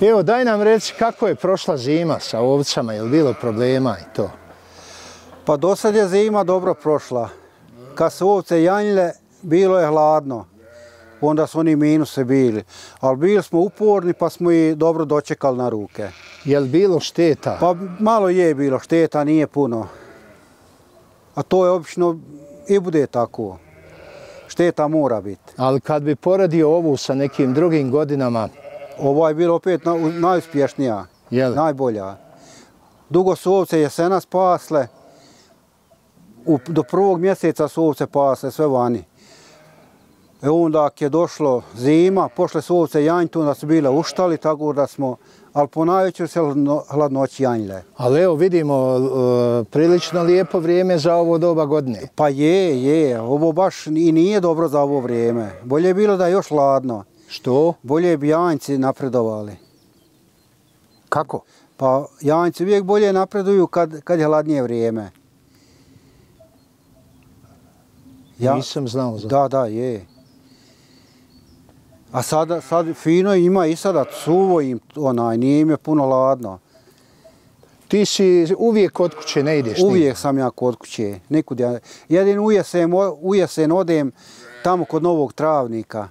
Evo, daj nam reci kako je prošla zima sa ovcama, je li bilo problema i to? Pa do sad je zima dobro prošla. Kad su ovce janjile, bilo je hladno. Onda su oni minuse bili. Ali bili smo uporni pa smo i dobro dočekali na ruke. Je li bilo šteta? Pa malo je bilo šteta, nije puno. A to je obično i bude tako. Šteta mora biti. Ali kad bi poredio ovu sa nekim drugim godinama... Ova je bila opet najuspješnija, najbolja. Dugo su ovce jesena spasle. Do 1. mjeseca su ovce pasle sve vani. Onda je došlo zima, pošle su ovce janjiti, onda su bile uštali, tako da smo, ali po najvećoj se hladnoći janjile. Ali evo vidimo, prilično lijepo vrijeme za ovo doba godine. Pa je, ovo baš i nije dobro za ovo vrijeme. Bolje je bilo da je još hladno. Što? Bolje bi janjci napredovali. Kako? Pa janjci uvijek bolje napreduju kad je hladnije vrijeme. Nisam znao za to. Da, je. A sad fino ima i sada suvo im, nije im je puno hladno. Ti si uvijek kod kuće, ne ideš? Uvijek sam ja kod kuće, nikud ja. Jedino u jesen odem tamo kod Novog Travnika.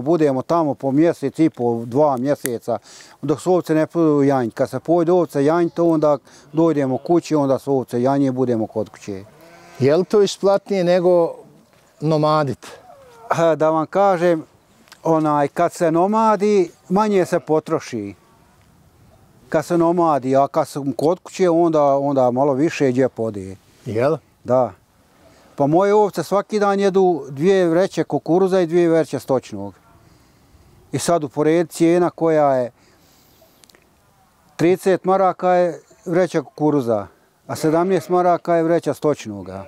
Budemo tamo po mjesec i po 2 mjeseca, dok su ovce ne podu janjiti. Kad se pojde ovce janjiti, onda dojdemo kući, onda su ovce janje, budemo kod kuće. Je li to isplatnije nego nomadit? Da vam kažem, kad se nomadi, manje se potroši. Kad se nomadi, a kad sam kod kuće, onda malo više džep ode. Jel? Da. Pa moje ovce svaki dan jedu 2 vreće kukuruza i 2 vreće stočnog. I sad uporedi cijena koja je 30 maraka je vreća kukuruza, a 17 maraka je vreća stočnoga.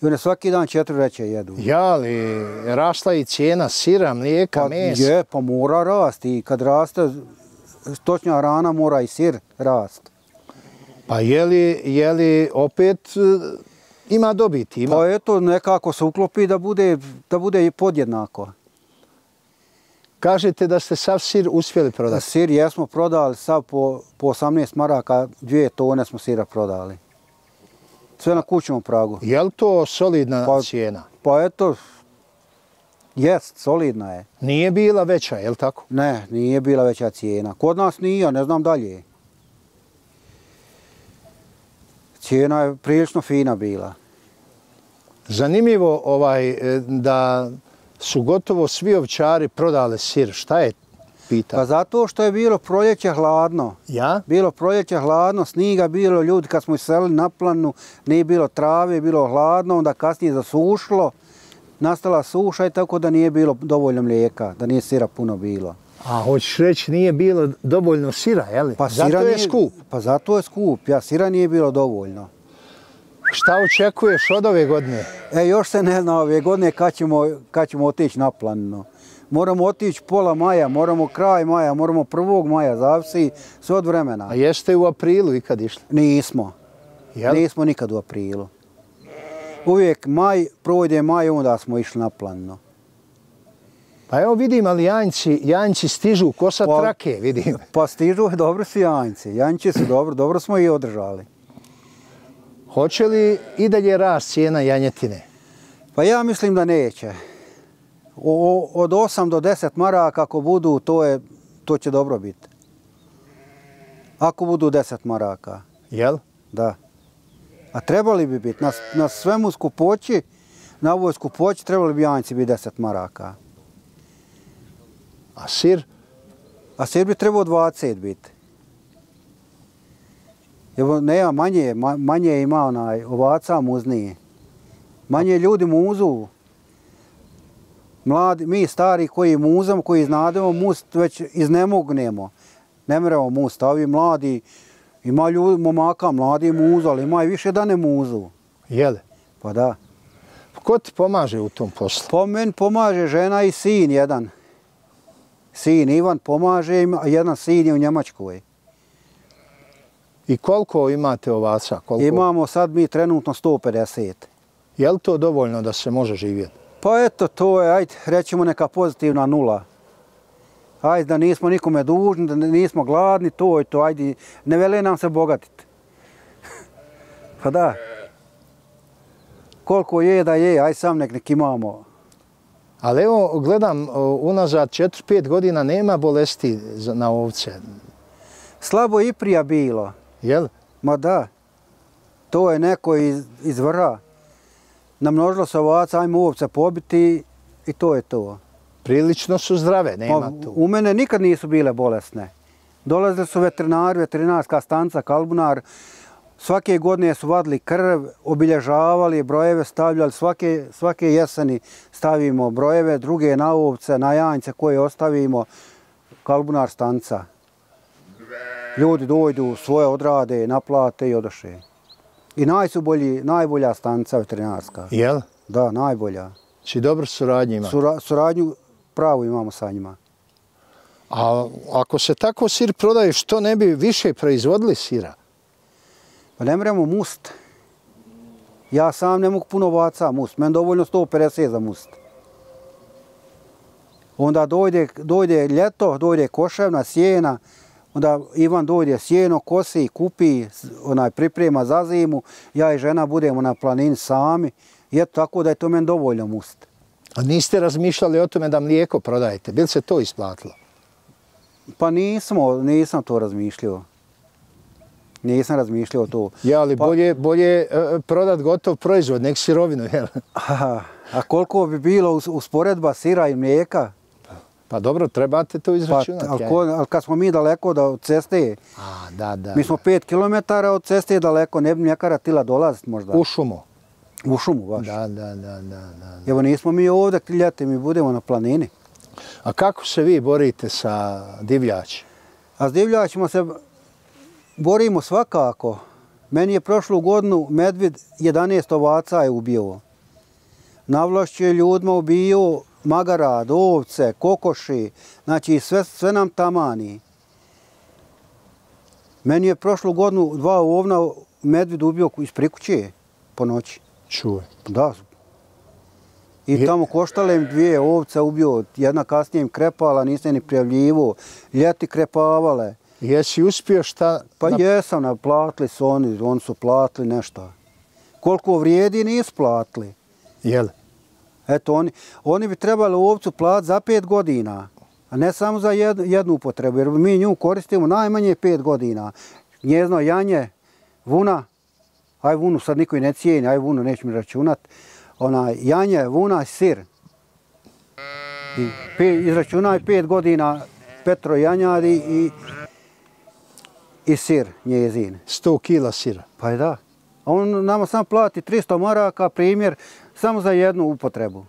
I one svaki dan 4 vreće jedu. Ja li, rasla i cijena sira, mlijeka, mesa? Pa mora rasti. I kad raste stočna hrana, mora i sir rast. Pa je li opet ima dobiti? Pa eto, nekako se uklopi da bude podjednako. Kažete da ste sav sir uspjeli prodati? Sir jesmo prodali, sav po 18 maraka, 2 tone smo sira prodali. Sve na kućnom pragu. Je li to solidna cijena? Pa eto, jest, solidna je. Nije bila veća, je li tako? Ne, nije bila veća cijena. Kod nas nije, ne znam dalje. Cijena je prilično fina bila. Zanimljivo da su gotovo svi ovčari prodali sir. Šta je pitao? Pa zato što je bilo proljeće hladno. Ja? Bilo proljeće hladno, sniga bilo, ljudi kad smo iselili na planu, nije bilo trave, bilo hladno, onda kasnije zasušilo, nastala suša i tako da nije bilo dovoljno mlijeka, da nije sira puno bilo. A hoćeš reći nije bilo dovoljno sira, je li? Pa zato je skup. Pa zato je skup, sira nije bilo dovoljno. Šta očekuješ od ove godine? Još se ne zna ove godine kad ćemo otići na planinu. Moramo otići pola maja, moramo kraj maja, moramo 1. maja, zavisi sve od vremena. A jeste u aprilu ikad išli? Nismo. Nismo nikad u aprilu. Uvijek projde maj, onda smo išli na planinu. Pa evo vidim, ali janjci stižu, ko sa trake, vidim. Pa stižu, dobro su janjci. Janjci su dobro smo i održali. Hoće li i dalje rast cijena janjetine? Pa ja mislim da neće. Od 8 do 10 maraka ako budu, to će dobro biti. Ako budu 10 maraka. Jel? Da. A trebali bi biti. Na svemu skupoći, na ovoj skupoći trebali bi janjci biti 10 maraka. A sir? A sir bi trebao 20 biti. Nema, manje ima ovaca muznije. Manje ljudi muzu. Mladi, mi stari koji muzamo, koji znademo must, već iznemognemo. Ne moramo must, a ovi mladi, ima ljudi, momaka, mladi muzu, ali ima i više da ne muzu. Jele? Pa da. Ko ti pomaže u tom poslu? Pa meni pomaže žena i sin jedan. Sin Ivan pomaže, a jedan sin je u Njemačkoj. I koliko imate ovaca? Imamo sad mi trenutno 150. Je li to dovoljno da se može živjeti? Pa eto, to je, ajde, rećemo neka pozitivna 0. Ajde da nismo nikome dužni, da nismo gladni, to i to, ajde, ne vele nam se bogatiti. Pa da. Koliko je da je, aj sam nek imamo. Ali evo, gledam, unazad 4-5 godina nema bolesti na ovce. Slabo i prija bilo. Jel? Ma da. To je neko iz vrha. Namnožilo se ovaca, ajmo ovce pobiti i to je to. Prilično su zdrave, nema tu. U mene nikad nisu bile bolesne. Dolazili su veterinari, veterinarska stanca, kalbunar. Svake godine su vadili krv, obilježavali, brojeve stavljali. Svake jeseni stavimo brojeve, druge na ovce, na janjce koje ostavimo. Kalbunar stanca. Ljudi dođu, svoje odrade, naplate i odoše. I najbolja stanca veterinarska. Jel? Da, najbolja. Či dobro suradnju ima? Suradnju pravu imamo sa njima. A ako se tako sir prodaje, što ne bi više proizvodili sira? Pa ne moramo must. Ja sam ne mogu puno ovaca must. Meni dovoljno 150 za must. Onda dojde ljeto, dojde koševna, sjena. Onda Ivan dojde sjeno, kosi, kupi, priprema za zimu. Ja i žena budemo na planini sami. I eto tako da je to meni dovoljno must. A niste razmišljali o tome da mlijeko prodajete? Bi li se to isplatilo? Pa nisam to razmišljao. Nisam razmišljao to. Ja, ali bolje prodat gotov proizvod, nek sirovinu, jel? A koliko bi bilo usporedba sira i mlijeka? Pa dobro, trebate to izračunati. Ali kad smo mi daleko od ceste, mi smo 5 km od ceste daleko, ne bi mljekara tila dolaziti možda. U šumu? U šumu, baš. Da. Evo nismo mi ovdje ljeti, mi budemo na planini. A kako se vi borite sa divljači? A s divljačima se borimo svakako. Meni je prošlu godinu medvjed 11 ovaca je ubio. Navlašću je ljudima ubio magarad, ovce, kokoši, znači sve nam tamani. Meni je prošlu godinu 2 ovna medvjed ubio iz prikuće po noći. Čuje. Da. I tamo koštale im 2 ovce ubio, jedna kasnije im krepala, nisam ni prijavljivo, ljeti krepavale. Jesi uspio šta? Pa jesam, naplatili su oni su platili nešto. Koliko vrijedi nisu platili. Jel? Eto, oni bi trebali ovcu platiti za 5 godina, a ne samo za jednu upotrebu, jer mi nju koristimo najmanje 5 godina. Njezno janje, vuna, aj vunu sad niko i ne cijeni, aj vunu neću mi računat, janje, vuna, sir. Izračunaj 5 godina Petro janjadi i sir njezin. 100 kila sira. Pa je da. A on nama sam plati 300 maraka, primjer, samo za jednu upotrebu.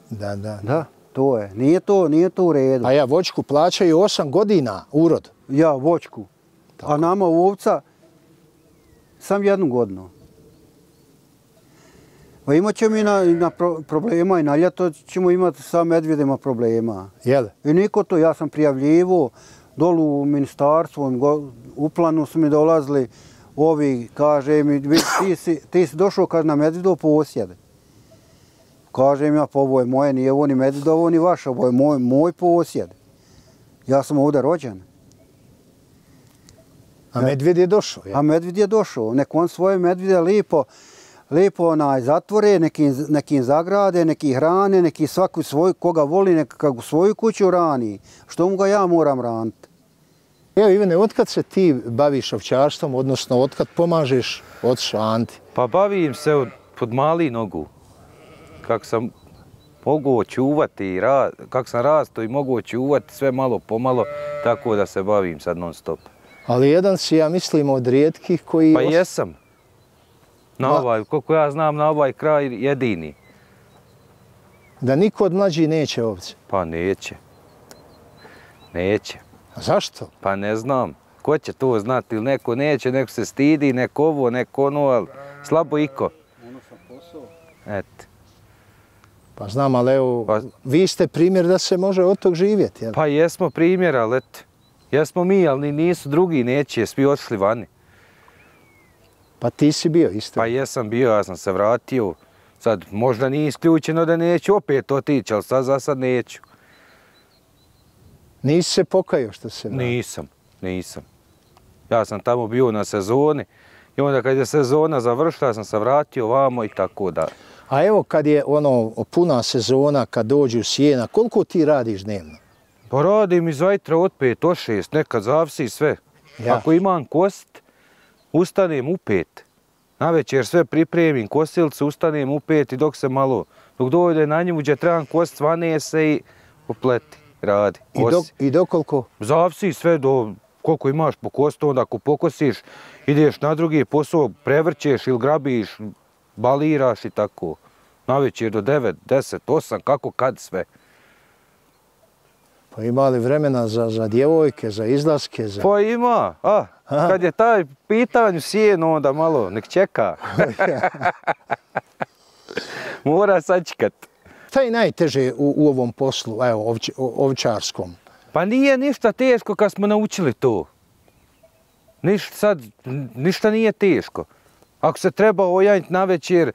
Da. Da, to je. Nije to u redu. A ja voćku plaćaju 8 godina urod. Ja, voćku. Tako. A nama ovca sam 1 godinu. Pa imat ćemo i na problema i na ljeto ćemo imati sa medvjedima problema. Jel? I niko to, ja sam prijavljivo dolu u ministarstvu, u planu su mi dolazili ovi, kaže mi, ti si došao kad na medvjedo posjed. Kaže mi, pa ovo je moje, nije ovo ni medvjedovo ni vaše, ovo je moj posjed. Ja sam ovdje rođen. A medvjed je došao? A medvjed je došao. Nek on svoje medvjede lijepo zatvore, neki zagrade, neki hrane, neki svaku svoju, koga voli, neka u svoju kuću rani. Što mu ga ja moram raniti? Evo Ivane, otkad se ti baviš ovčarstvom, odnosno otkad pomažeš ocu Anti? Pa bavim se pod mali nogu. Kako sam mogao čuvati, kako sam rastao i mogao čuvati sve malo pomalo, tako da se bavim sad non stop. Ali jedan si, ja mislim, od rijetkih koji... Pa jesam. Koliko ja znam, na ovaj kraj jedini. Da niko od mlađih neće ovce? Pa neće. Neće. A zašto? Pa ne znam. Ko će to znati? Ili neko neće, neko se stidi, neko ovo, neko ono, ali slabo iko. Ono sam posao. Eto. Pa znam, ali evo, vi ste primjer da se može od tog živjeti, jel? Pa jesmo primjer, ali eto. Jesmo mi, ali nisu drugi, neće, svi otišli vani. Pa ti si bio isto? Pa jesam bio, ja sam se vratio. Sad možda nije isključeno da neću opet otići, ali sad za sad neću. Nisi se pokajao što se vrati? Nisam. Ja sam tamo bio na sezoni i onda kad je sezona završila sam se vratio vamo i tako da. A evo kad je puna sezona, kad dođu sjena, koliko ti radiš dnevno? Pa radim iz vajtra od 5 od 6, nekad zavisi sve. Ja. Ako imam kost, ustanem u 5. Navečer sve pripremim, kosilcu, ustanem u 5 i dok dođe na njemu gdje trebam kost, svane se i popleti, radi. I do koliko? Zavisi sve do koliko imaš po kostu, onda ako pokosiš, ideš na drugi posao, prevrćeš ili grabiš, baliraš i tako. Navečer do 9, 10, 8, kako kad sve. Pa ima li vremena za djevojke, za izlaske? Pa ima, kad je taj pitanju sjeno, onda malo nek čeka. Mora sačekat. Šta je najteže u ovom poslu, evo, ovčarskom? Pa nije ništa teško kad smo naučili to. Ništa nije teško. Ako se treba ojanjiti na večer,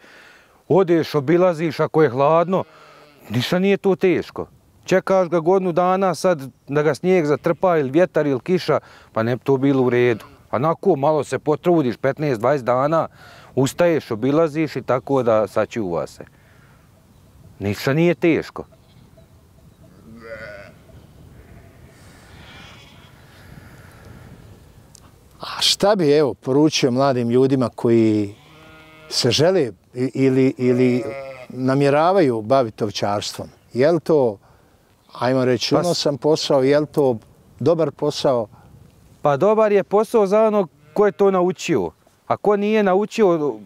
odeš, obilaziš, ako je hladno, ništa nije to teško. Čekaš ga godinu dana sad da ga snijeg zatrpa ili vjetar ili kiša, pa ne bi to bilo u redu. A nakon malo se potrudiš, 15-20 dana, ustaješ, obilaziš i tako da sačuva se. Ništa nije teško. A šta bi, evo, poručio mladim ljudima koji se žele ili namjeravaju baviti ovčarstvom? Je li to, ajmo reći, unosan posao, je li to dobar posao? Pa dobar je posao za onog ko je to naučio. A ko nije naučio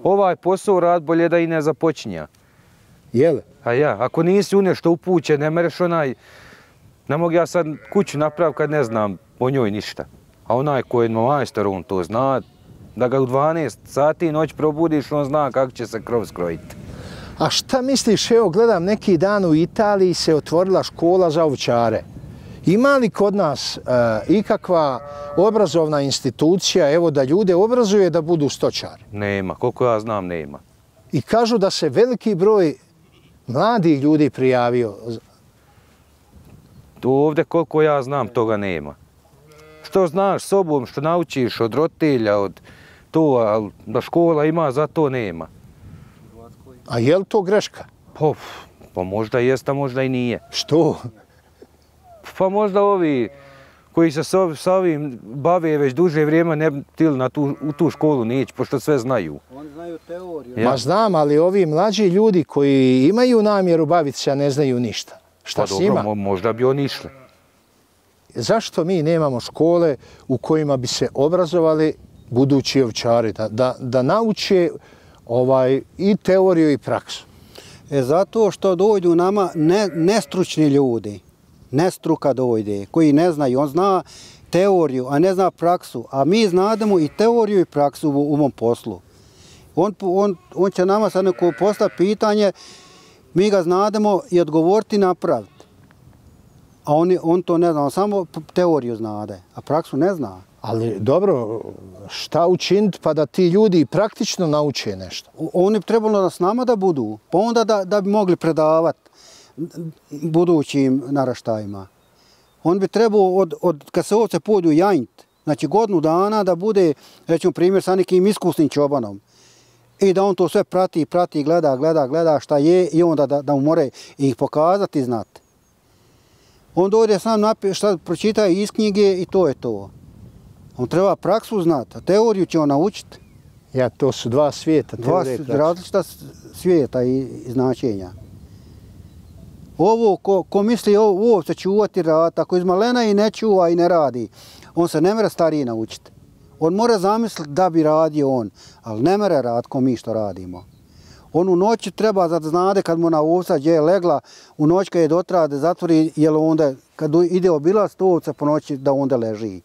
ovaj posao rad, bolje da i ne započinja. Je li? A ja, ako nisi u nešto upućen, ne mereš ne mogu ja sad kuću napraviti kad ne znam o njoj ništa. A onaj ko je majstor, on to zna, da ga u 12 sati noć probudiš, on zna kako će se krov skrojiti. A šta misliš, evo gledam neki dan u Italiji se otvorila škola za ovčare. Ima li kod nas ikakva obrazovna institucija, evo da ljude obrazuje da budu stočari? Nema, koliko ja znam nema. I kažu da se veliki broj mladih ljudi prijavio. Ovdje koliko ja znam toga nema. Što znaš sobom, što naučiš od roditelja, od to, ali da škola ima, za to nema. A je li to greška? Pa možda jest, a možda i nije. Što? Pa možda ovi koji se s ovim bave već duže vrijeme ne bi htjeli u tu školu neći, pošto sve znaju. Oni znaju teoriju. Ma znam, ali ovi mlađi ljudi koji imaju namjeru baviti se, a ne znaju ništa. Šta s njima? Pa dobro, možda bi oni išli. Zašto mi nemamo škole u kojima bi se obrazovali budući ovčari, da nauče i teoriju i praksu? Zato što dođu nama nestručni ljudi. Nestruka dojde, koji ne znaju. On zna teoriju, a ne zna praksu. A mi znademo i teoriju i praksu u ovom poslu. On će nama sad neko postaviti pitanje, mi ga znademo i odgovoriti i napraviti. A on to ne zna, on samo teoriju znade, a praksu ne zna. Ali dobro, šta učiniti pa da ti ljudi praktično nauče nešto? Oni bi trebalo s nama da budu, pa onda da bi mogli predavati budućim naraštajima. On bi trebao, kad se ovce pođu janjit, znači godinu dana da bude, recimo primjer, sa nekim iskusnim čobanom. I da on to sve prati, gleda šta je i onda da mu more ih pokazati i znati. On dođe sam šta pročita iz knjige i to je to. On treba praksu znati, a teoriju će on naučiti. Ja, to su dva svijeta. Dva različita svijeta i značenja. Ovo, ko misli ovo se čuvati rad, ako iz malena i ne čuva i ne radi, on se ne mere stariji naučiti. On mora zamisliti da bi radio on, ali ne mere rad ko mi što radimo. On u noći treba da znade kad mu na ovca gdje je legla, u noć kad je dotra da zatvori, jer onda kad ide obilaz to ovca po noći da onda leži.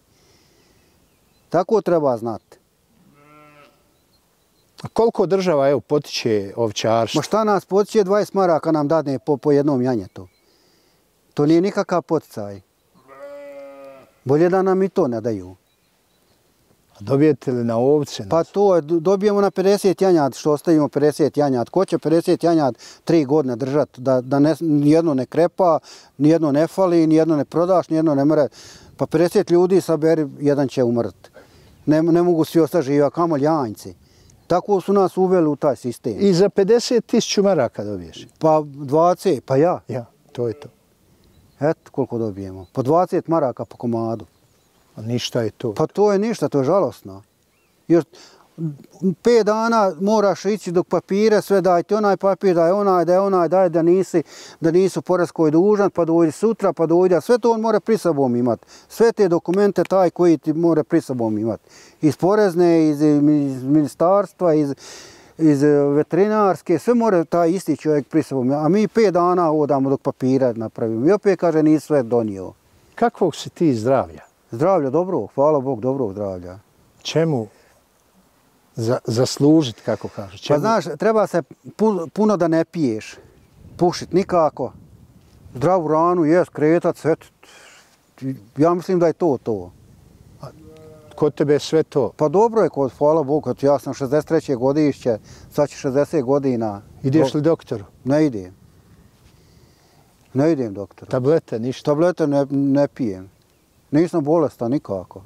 Tako treba znati. A koliko država potiče ovčarstvo? Ma šta nas potiče, 20 maraka nam dadne po jednom janjetu. To nije nikakav poticaj. Bolje da nam i to ne daju. Dobijete li na ovce? Pa to je, dobijemo na 50 janjad, što ostavimo 50 janjad. Ko će 50 janjad 3 godine držati, da nijedno ne krepa, nijedno ne fali, nijedno ne prodaš, nijedno ne mre. Pa 50 ljudi saberi, jedan će umrti. Ne mogu svi ostati živi, a kamoli janjci. Tako su nas uveli u taj sistem. I za 50.000 maraka dobiješ? Pa 20, pa ja. Ja, to je to. Eto koliko dobijemo. Po 20 maraka po komadu. A ništa je to. Pa to je ništa, to je žalostno. Jer 5 dana moraš ići dok papire, sve dajte onaj papir, daj da nisu poreskoj dužan, pa dojde sutra, pa dojde, sve to on mora pri sobom imati. Sve te dokumente taj koji ti mora pri sobom imati. Iz porezne, iz ministarstva, iz veterinarske, sve mora taj isti čovjek pri sobom. A mi 5 dana odamo dok papire napravimo. I opet kaže nisi sve donio. Kakvog si ti zdravlja? Zdravlja dobrog, hvala Bog, dobrog zdravlja. Čemu zaslužiti, kako kažeš? Pa znaš, treba se puno da ne piješ, pušit nikako. Zdravu ranu, jest, kretat, sve. Ja mislim da je to. A kod tebe je sve to? Pa dobro je, hvala Bogu, ja sam 63. godišće, sad će 60 godina. Ideš li doktoru? Ne idem. Ne idem doktoru. Tablete, ništa? Tablete ne pijem. Nisam bolestan nikako.